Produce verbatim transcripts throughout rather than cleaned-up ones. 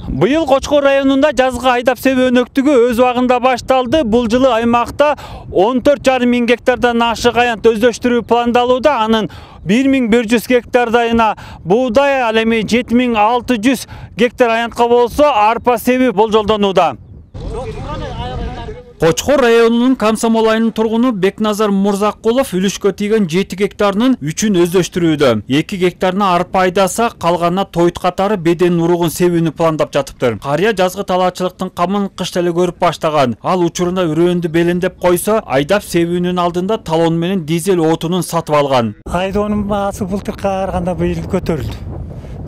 Быйыл Кочкор районунда жазгы айдап себүү өнөктүгү өз убагында башталды. Бул жылы аймакта он төрт жарым миң гектардан ашык аянт өздөштүрүү пландалууда. Анын бир миң бир жүз гектардайына буудай, ал эми жети миң алты жүз гектар аянтка болсо арпа себүү болжолдонууда. Кочкор районунун Комсомол айылынын тургуну Бекназар Мурзакулов үлүшкө тийген жети гектарынын үчүн өздөштүрүүдө. эки гектарына арпа айдаса, калганына тоют катары беден уругун себүүнү пландап жатыптыр. Карыя жазгы талаачылыктын камын кышта эле көрүп баштаган. Ал учурунда үрөөндү белендеп койсо, айдап себүүнүн алдында талон менен дизель отунун сатып алган. Айдоонун баасы былтыркыга караганда быйыл көтөрүлдү.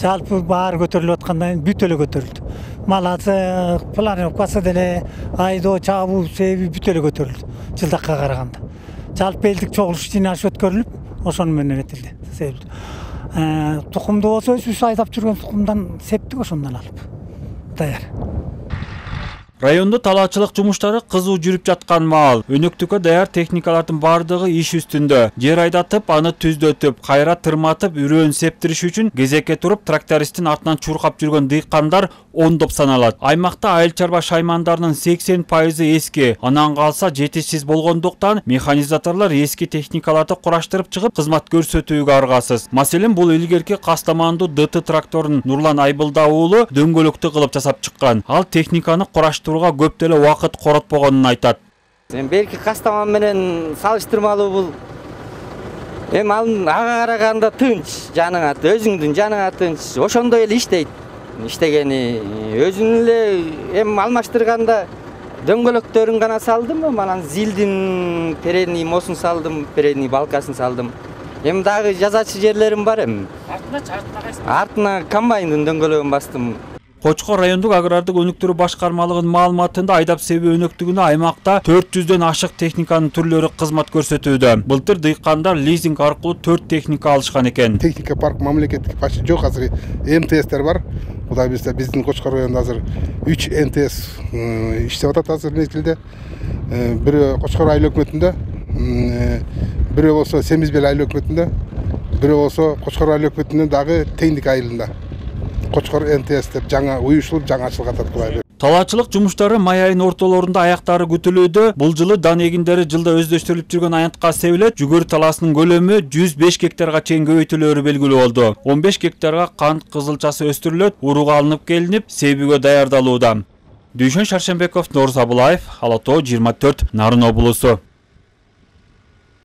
Жалпы баары көтөрүлүп аткандан кийин бүт эле көтөрүлдү. Мал азык, плановкасы деле, айдоо, чабуу себүү бүт эле көтөрүлдү жылдакка караганда. Жалпы элдик чогулуш жыйналыш өткөрүлүп, ошону менен этилди, себилди. Тукумду болсо өзүбүз айдап жүргөн тукумдан септик, ошондон алып даяр. Райондо талаачылык жумуштары кызуу жүрүп жаткан маал. Өнөктүккө даяр техникалардын бардыгы иш үстүндө. Жер айдатып, аны түздөтүп, кайра тырматып, үрөөн септириш үчүн кезекке туруп трактористтин артынан чуркап жүргөн дыйкандар ондоп саналат. Аймакта айыл чарба шаймандарынын сексен пайызы эски. Анан калса жетишсиз болгондуктан механизаторлор эски техникаларды кураштырып чыгып, кызмат көрсөтүүгө аргасыз. Маселен, бул илгерки Кастамандуу ДТ тракторунун Нурлан Айбылда уулу дөңгөлөктү кылып жасап чыккан. Ал техниканы кураштырууга көп деле убакыт коротпогонун айтат. Берки Кастаман менен салыштырмалуу бул эми ага караганда тынч, жаныңа, өзүңдүн жаныңа тынч. Ошондой эле иштейт. Иштегени өзүн эле эми алмаштырганда дөңгөлөктөрүн гана салдым, анан зилдин передний мосун салдым, передний балкасын салдым. Эми дагы жазачы жерлерим бар эми. Артына чартына кайсы? Артына комбайндын дөңгөлөгүн бастым. Кочкор райондук агрардык өнүктүрүү башкармалыгынын маалыматында айдап себүү өнөктүгүнө аймакта төрт жүздөн ашык техниканын түрлөрү кызмат көрсөтүүдө. Былтыр дыйкандар лизинг аркылуу төрт техника алышкан экен. Техника парк мамлекеттик почти жок, азыр эм тэ эстер бар. Кудай билсе, биздин Кочкор районунда азыр үч эм тэ эс иштеп атат азыр мезгилде. Бирөө Кочкор айыл өкмөтүндө, бирөө болсо Семизбел айыл өкмөтүндө, бирөө болсо Кочкор айыл өкмөтүнүн дагы Теңдик айылында. Кочкор эм тэ эс деп жаңа уюшулуп, жаңа ачылган атат. Талаачылык жумуштары май айынын ортолорунда аяктары күтүлүүдө. Бул жылы дан эгиндери жылда өздөштүрүлүп жүргөн аянтка себилет. Жүгөр талаасынын көлөмү жүз беш гектарга чейин көбөйтүлөөрү белгилүү болду. он беш гектарга кант кызылчасы өстүрүлөт, урук алынып келинип, себүүгө даярдалууда. Дүйшөн Шаршембеков, Норз Абылаев, Ала Тоо жыйырма төрт, Нарын облусу.